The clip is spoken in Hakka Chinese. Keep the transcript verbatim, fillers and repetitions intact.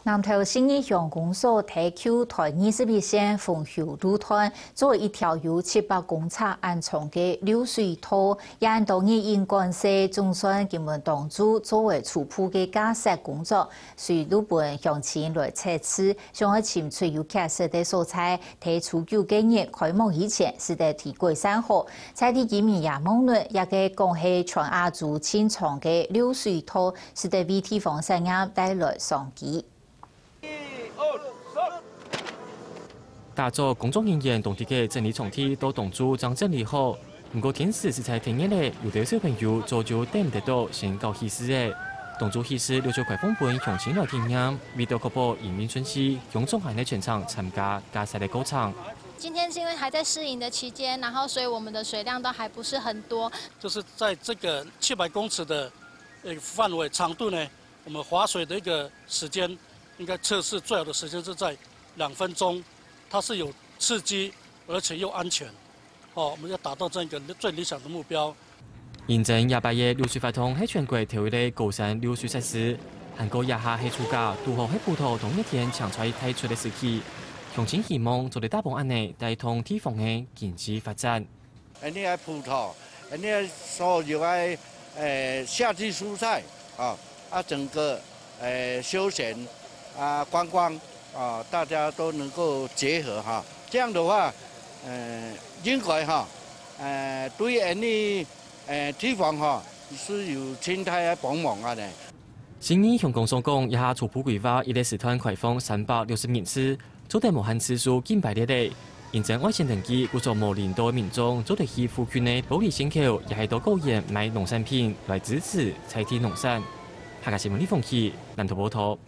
南投信義鄉公所在舊台二十一線豐休路段，做一條有七百公尺恁長个漏水道，也恁多日因管事，總算今晡當晝做个初步个架設工作，隨路分鄉親來測試，想愛尋出有缺失个所在，在初九个日開幕以前，使得佢改善好。在地居民也望論，這个講係全亞洲盡長个漏水道， 使得為地方產業帶來商機。打早工作人員當在該整理場地，到當晝正整理好。毋過天時實在忒熱了，有兜小朋友早就等毋得到，先搞起勢了。當晝起勢，陸續開放分鄉親來體驗，為著確保營運順序，鄉長還在全場參加架設个過程。今天是因為還在試營的期間，然後所以我們的水量都還不是很多。就是在這個七百公尺的，呃，範圍長度呢， 我們劃水的一個時間，應該測試最好的時間是在兩分鐘，它是有刺激，而且又安全。哦，我們要達到這樣一個最理想的目標。因為這擺个漏水法堂係全國頭一個高山漏水設施，還過這下係暑假，堵好係葡萄同熱天搶出來大出个時期，鄉親希望做得打幫恁呢，帶動地方个經濟發展。 恁呢个葡萄，恁呢个所有个，呃，夏季蔬菜，啊，啊，整個，呃，休閒，啊，觀光，啊，大家都能夠結合哈。這樣的話，呃，應該哈，呃，對恁呢，呃，地方哈，是有盡大个幫忙啊呢。 信義鄉公所講，這下初步規劃一日時段開放三百六十人次，做得無限次數緊排列咧。因為愛先登記，故所無領導个民眾做得去附近个玻璃線口，也係到果園買農產品來支持在地農產。客家新聞李鳳琪，南投報導。